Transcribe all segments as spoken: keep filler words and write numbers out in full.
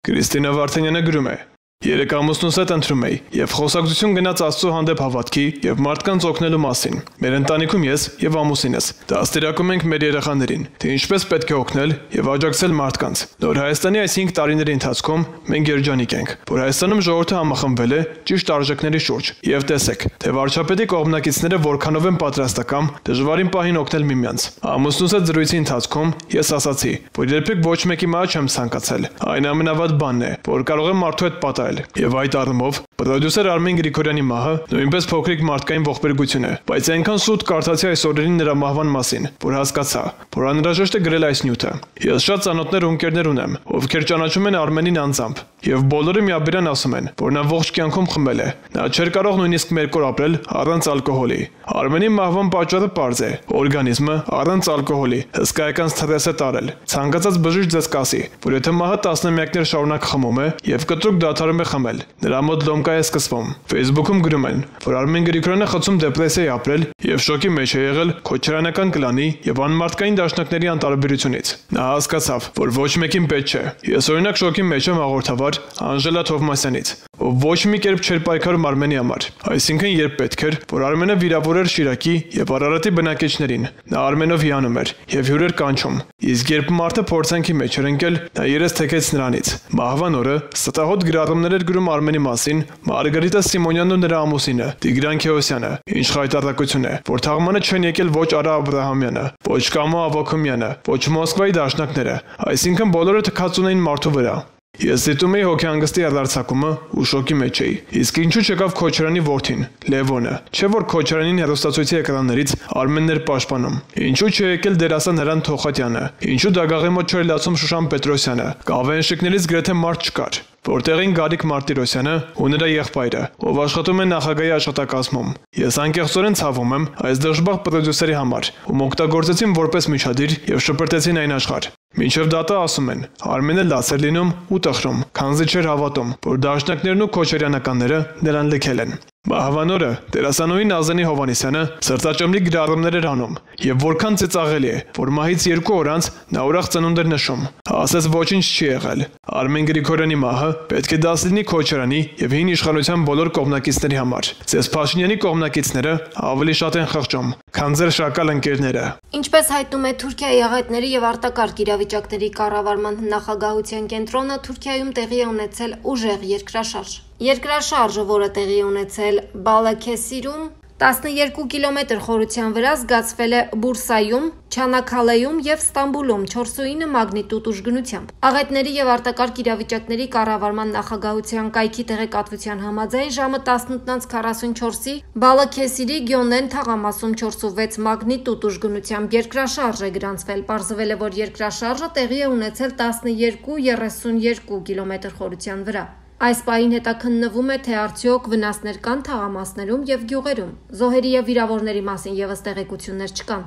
Կրիստինա Վարդանյանը գրում է. Երեք ամուսնուս հետ ընտրում էի եւ խոսակցություն գնաց Աստծո հանդեպ հավատքի եւ մարդկանց օգնելու մասին։ Մեր ընտանիքում ես եւ ամուսինս դաստիարակում ենք մեր երեխաներին, թե ինչպես պետք է օգնել եւ աջակցել մարդկանց։ Նոր Հայաստանի այս հինգ տարիների ընթացքում մենք երջանիկ ենք, որ Հայաստանում ժողովուրդը համախմբվել է ճիշտ արժեքների շուրջ եւ տեսեք, թե վարչապետի կողմնակիցները որքանով են պատրաստական դժվարին պահին օգնել միմյանց։ Ամուսնուս հետ զրույցի ընթացքում ես ասացի, որ երբեք ոչ մեկի մահ չեմ ցանկացել։ Այն ամենավատ բանն է, որ կարող է մարդու հետ պատահել։ Եվ այդ առումով պրոդյուսեր Արմեն Գրիգորյանի մահը նույնպես փոքրիկ մարդկային ողբերգություն է, բայց այնքան սուտ կարդացի այս օրերին նրա մահվան մասին, որ հասկացա, որ անհրաժեշտ է գրել այս նյութը։ Ես շատ ծանոթներ ու ընկերներ ունեմ, ովքեր ճանաչում են Արմենին անձամբ, եւ բոլորը միաբերան ասում են, որ նա ողջ կյանքում խմել է։ Նա չէր կարող նույնիսկ մեկ օր ապրել առանց ալկոհոլի։ Արմենի մահվան պատճառը պարզ է՝ օրգանիզմը առանց ալկոհոլի հսկայական սթրես է տարել։ Ցանկացած բժիշկ ձեզ կասի, որ եթե մահը տասնամյակներ շարունակ խմում է եւ կտրուկ դադարում է խմել, նրա մոտ լոմկա է սկսվում։ Facebook-ում գրում են, որ Արմեն Գրիգորյանը խցում դեպրեսիայի ապրել եւ շոկի մեջ է եղել քոչարանական կլանի եւ անմարդկային դաշնակների անտարբերությունից։ Նա հասկացավ, որ ոչ մեկին պետք չէ։ Ես օրինակ շոկի մեջ եմ հաղորդավար Անժելա Թովմասյանից, ով ոչ մի կերպ չէր պայքարում Արմենի համար։ Այսինքն երբ պետք էր, որ Արմենը վիրավորեր Շիրակի եւ Արարատի բնակիչներին, նա Արմենով հիանում էր եւ հյուրեր կանչում։ Իսկ երբ մարդը փորձանքի մեջ էր ընկել, նա երես թեքեց նրանից։ Մահվան օրը ստահոդ գրառումներ էր գրում Արմենի մասին Մարգարիտա Սիմոնյանն ու նրա ամուսինը Տիգրան Քեոսյանը։ Ինչ խայտառակություն է, որ թաղմանը չեն եկել ոչ Արա Աբրահամյանը, ոչ Կամո Ավակումյանը, ոչ Մոսկվայի դաշնակները, այսինքն բոլորը թքած ունեին մարդու վրա։ Ես դիտում էի հոգեհանգստի արձակումը ու շոկի մեջ էի։ Իսկ ինչու չեկավ Քոչարյանի որդին, Լևոնը, չէ՞ որ Քոչարյանին հեռուստացույցի էկրաններից Արմենն էր պաշտպանում։ Ինչու չեկել դերասան Հրանտ Թոխատյանը, ինչու դագաղի մոտ չէր լացում Շուշան Պետրոսյանը, կավենշիկներից գրեթե մարդ չկար։ Որտեղին Գարիկ Մարտիրոսյանը ու նրա եղբայրը, ով աշխատում է նախագահի աշխատակազմում։ Ես անկեղծորեն ցավում եմ այս դժբախտ պրոդյուսերի համար, ում օգտագործեցին որպես միջադիր եւ շպրտեցին այն աշխարհ։ Մինչև դատը ասում են, Արմենը լաց էր լինում ու տխրում, քանզի չէր հավատում, որ դաշնակներն ու քոչարյանականները նրան լքել են։ Մահվան օրը դերասանուհի Նազենի Հովանեսյանը սրտաճմլիկ գրառումներ էր անում եւ որքան ծիծաղելի է, որ մահից երկու օր անց նա ուրախ ծնունդ էր նշում։ Ասես ոչինչ չի եղել։ Արմեն Գրիգորյանի մահը պետք է դաս լինի Քոչարյանի եւ հին իշխանության բոլոր կողմնակիցների համար։ Ձեզ Փաշինյանի կողմնակիցները ավելի շատ են խղճում, քան ձեր շակալ ընկերները։ Ինչպես հայտնում է Թուրքիայի աղետների եւ արտակարգ իրավիճակների կառավարման նախագահության կենտրոնը, Թուրքիայում տեղի է ունեցել ուժեղ երկրաշարժ։ Երկրաշարժը, որը տեղի է ունեցել Բալաքեսիրում, տասներկու կիլոմետր խորության վրա, զգացվել է Բուրսայում, Չանաքալեում եւ Ստամբուլում չորս ու ինը մագնիտուդ ուժգնությամբ։ Աղետների եւ արտակարգ իրավիճակների կառավարման նախագահության կայքի տեղեկատվության համաձայն ժամը տասնութ քառասունչորսի Բալաքեսիրի Գյոնեն թաղամասում չորս ու վեց մագնիտուդ ուժգնությամբ երկրաշարժ է գրանցվել։ Պարզվել է, որ երկրաշարժը տեղի է ունեցել տասներկու երեսունյերկու կիլոմետր խորության վրա։ Այս պահին հետաքննվում է, թե արդյոք վնասներ կան թաղամասներում եւ գյուղերում։ Զոհերի եւ վիրավորների մասին եւս տեղեկություններ չկան։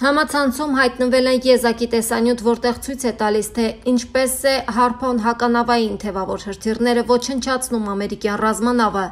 Համացանցում հայտնվել են եզակի տեսանյութ, որտեղ ցույց է տալիս, թե ինչպես է Հարփոն հականավային թևավոր հրթիռները ոչնչացնում ամերիկյան ռազմանավը։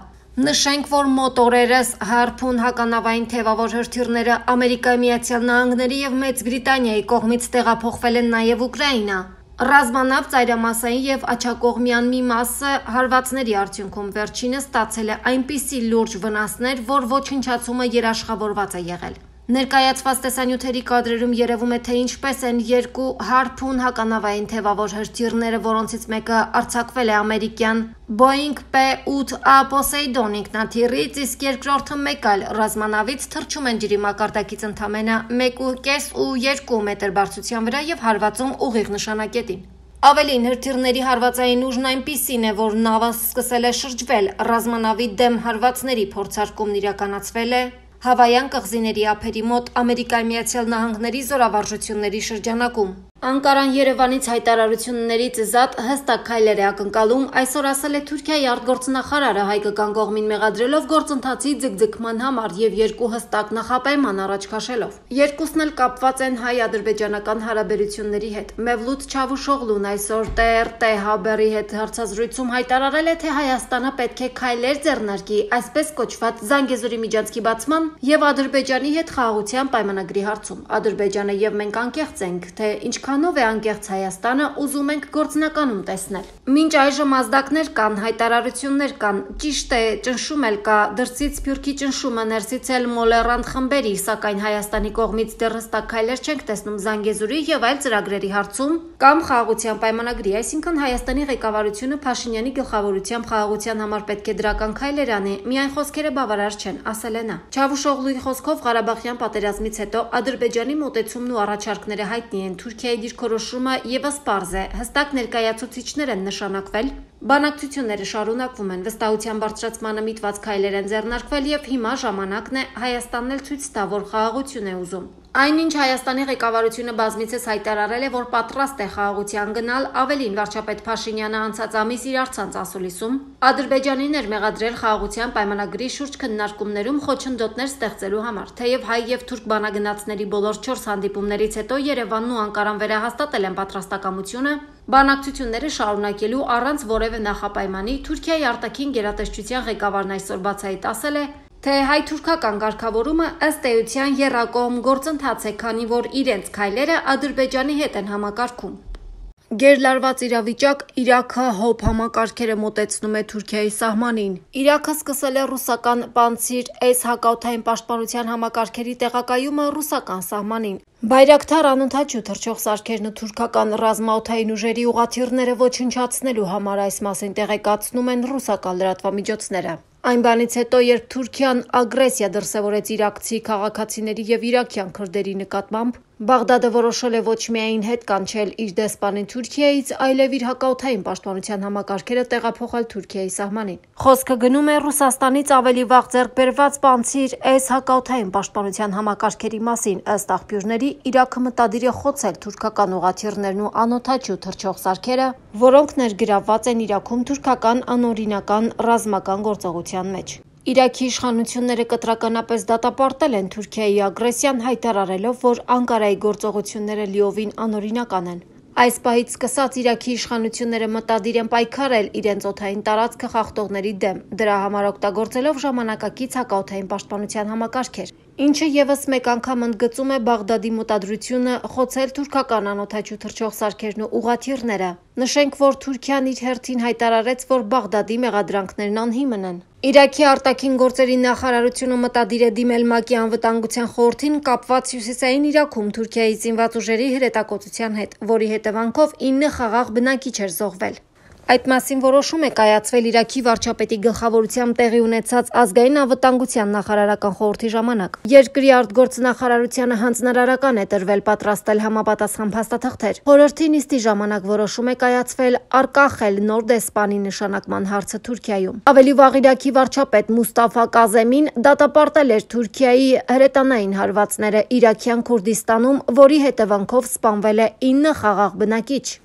Նշենք, որ մոտ օրերս Հարփուն հականավային թևավոր հրթիռները Ամերիկայի Միացյալ Նահանգների եւ Մեծ Բրիտանիայի կողմից տեղափոխվել են նաեւ Ուկրաինա։ Ռազմանավ ծայրամասային եւ աչակողմյան մի մասը հարվածների արդյունքում վերջինս ստացել է այնպիսի լուրջ վնասներ, որ ոչնչացումը երաշխավորված է եղել։ Ներկայացված տեսանյութերի կադրերում երևում է, թե ինչպես են երկու Հարփուն հականավային թևավոր հրթիռները, որոնցից մեկը արձակվել է ամերիկյան Boeing P ութ A Poseidon ինքնաթիռից, իսկ երկրորդը մեկ այլ ռազմանավից թռչում են ջրի մակարդակից ընդամենը մեկ ու կես ու երկու մետր բարձրության վրա եւ հարվածում ուղիղ նշանակետին։ Ավելին, հրթիռների հարվածային ուժն այնպիսին է, որ նավը սկսել է շրջվել, ռազմանավի դեմ հարվածների փորձարկումն իրականացվել է Հավայան կղզիների ափերի մոտ Ամերիկայի Միացյալ Նահանգների զորավարժությունների շրջանակում։ Անկարան Երևանից հայտարարություններից զատ հստակ քայլեր է ակնկալում, այսօր ասել է Թուրքիայի արտգործնախարարը հայկական կողմին մեղադրելով գործընթացի ձգձգման համար եւ երկու հստակ նախապայման առաջ քաշելով։ Երկուսն էլ կապված են հայ-ադրբեջանական հարաբերությունների հետ։ Մևլութ Չավուշօղլուն այսօր T R T Haber-ի հետ հարցազրույցում հայտարարել է, թե Հայաստանը պետք է քայլեր ձեռնարկի այսպես կոչված Զանգեզուրի միջանցքի բացման եւ Ադրբեջանի հետ խաղաղության պայմանագրի հարցում։ Ադրբեջանը եւ մենք անկեղծ ենք, թե ինչքան ինչքանով է անկեղծ Հայաստանը, ուզում ենք գործնականում տեսնել։ Մինչ այժմ ազդակներ կան, հայտարարություններ կան, ճիշտ է, ճնշում էլ կա, դրսից Սփյուռքի ճնշումը, ներսից էլ մոլեռանդ խմբերի, սակայն Հայաստանի կողմից դեռ հստակ քայլեր չենք տեսնում Զանգեզուրի եւ այլ ծրագրերի հարցում կամ խաղաղության պայմանագրի, այսինքն Հայաստանի ղեկավարությունը Փաշինյանի գլխավորությամբ խաղաղության համար պետք է դրական քայլեր անի, միայն խոսքերը բավարար չեն, ասել է նա։ Չավուշօղլուի խոսքով Ղարաբաղյան պատերազմից հետո Ադրբեջանի մոտեցումն ու առաջարկները հայտնի են, Թուրքիայի դիրքորոշումը եւս պարզ է, հստակ ներկայացուցիչներ են նշանակվել, բանակցությունները շարունակվում են, վստահության բարձրացմանը միտված քայլեր են ձեռնարկվել եւ հիմա ժամանակն է Հայաստանն էլ ցույց տա, որ խաղաղություն է ուզում։ Այնինչ Հայաստանի ղեկավարությունը բազմիցս հայտարարել է, որ պատրաստ է խաղաղության գնալ, ավելին վարչապետ Փաշինյանը անցած ամիս իր առցանց ասուլիսում Ադրբեջանին էր մեղադրել խաղաղության պայմանագրի շուրջ քննարկումներում խոչընդոտներ ստեղծելու համար, թեև հայ եւ թուրք բանագնացների բոլոր չորս հանդիպումներից հետո Երևանն ու Անկարան վերահաստատել են պատրաստակամությունը բանակցությունները շարունակելու առանց որևէ նախապայմանի։ Թուրքիայի արտաքին գերատեսչության ղեկավարն այսօր բացահայտ ասել է, թե հայ-թուրքական կարգավորումը ըստ էության եռակողմ գործընթաց է, քանի որ իրենց քայլերը Ադրբեջանի հետ են համակարգում։ Գերլարված իրավիճակ, Իրաքը հոբ համակարգերը մոտեցնում է Թուրքիայի սահմանին։ Իրաքը սկսել է ռուսական Պանցիր S հակաօդային պաշտպանության համակարգերի տեղակայումը ռուսական սահմանին։ Բայրակթար անընդհատ թռչող սարքերն ու թուրքական ռազմաօդային ուժերի ուղղաթիռները ոչնչացնելու համար այս մասին տեղեկացնում են ռուսական լրատվամիջոցները։ Այն բանից հետո, երբ Թուրքիան ագրեսիա դրսևորեց իրաքցի քաղաքացիների եւ իրաքյան քրդերի նկատմամբ, Բաղդադը որոշել է ոչ միայն հետ կանչել իր դեսպանին Թուրքիայից, այլև իր հակաօդային պաշտպանության համակարգերը տեղափոխել Թուրքիայի սահմանին։ Խոսքը գնում է Ռուսաստանից ավելի վաղ ձեռք բերված Պանցիր S հակաօդային պաշտպանության համակարգերի մասին, ըստ աղբյուրների, Իրաքը մտադիր է խոցել թուրքական ուղղաթիռներն ու անօդաչու թռչող սարքերը, որոնք ներգրավված են Իրաքում թուրքական անօրինական ռազմական գործողության մեջ։ Իրաքի իշխանությունները կտրականապես դատապարտել են Թուրքիայի ագրեսիան, հայտարարելով, որ Անկարայի գործողությունները լիովին անօրինական են։ Այս պահից սկսած Իրաքի իշխանությունները մտադիր են պայքարել իրենց օդային տարածքը խախտողների դեմ, դրա համար օգտագործելով ժամանակակից հակաօդային պաշտպանության համակարգեր, ինչը եւս մեկ անգամ ընդգծում է Բաղդադի մտադրությունը խոցել թուրքական անօդաչու թռչող սարքերն ու ուղղաթիռները։ Նշենք, որ Թուրքիան իր հերթին հայտարարեց, որ Բաղդադի մեղադրանքներն անհիմն են։ Իրաքի արտաքին գործերի նախարարությունը մտադիր է դիմել ՄԱԿ-ի անվտանգության խորհրդին կապված Հյուսիսային Իրաքում Թուրքիայի զինված ուժերի հրետակոծության հետ, որի հետևանքով ինը խաղաղ բնակիչ էր զոհվել։ Այդ մասին որոշում է կայացվել Իրաքի վարչապետի գլխավորությամբ տեղի ունեցած ազգային անվտանգության նախարարական խորհրդի ժամանակ։ Երկրի արտգործնախարարությանը հանձնարարական է տրվել պատրաստել համապատասխան փաստաթղթեր։ Խորհրդի նիստի ժամանակ որոշում է կայացվել արկախել նոր դեսպանի նշանակման հարցը Թուրքիայում։ Ավելի վաղ Իրաքի վարչապետ Մուստաֆա Կազեմին դատապարտել էր Թուրքիայի հրետանային հարվածները Իրաքյան Քուրդիստանում, որի հետևանքով սպանվել է ինը խաղաղ բնակիչ։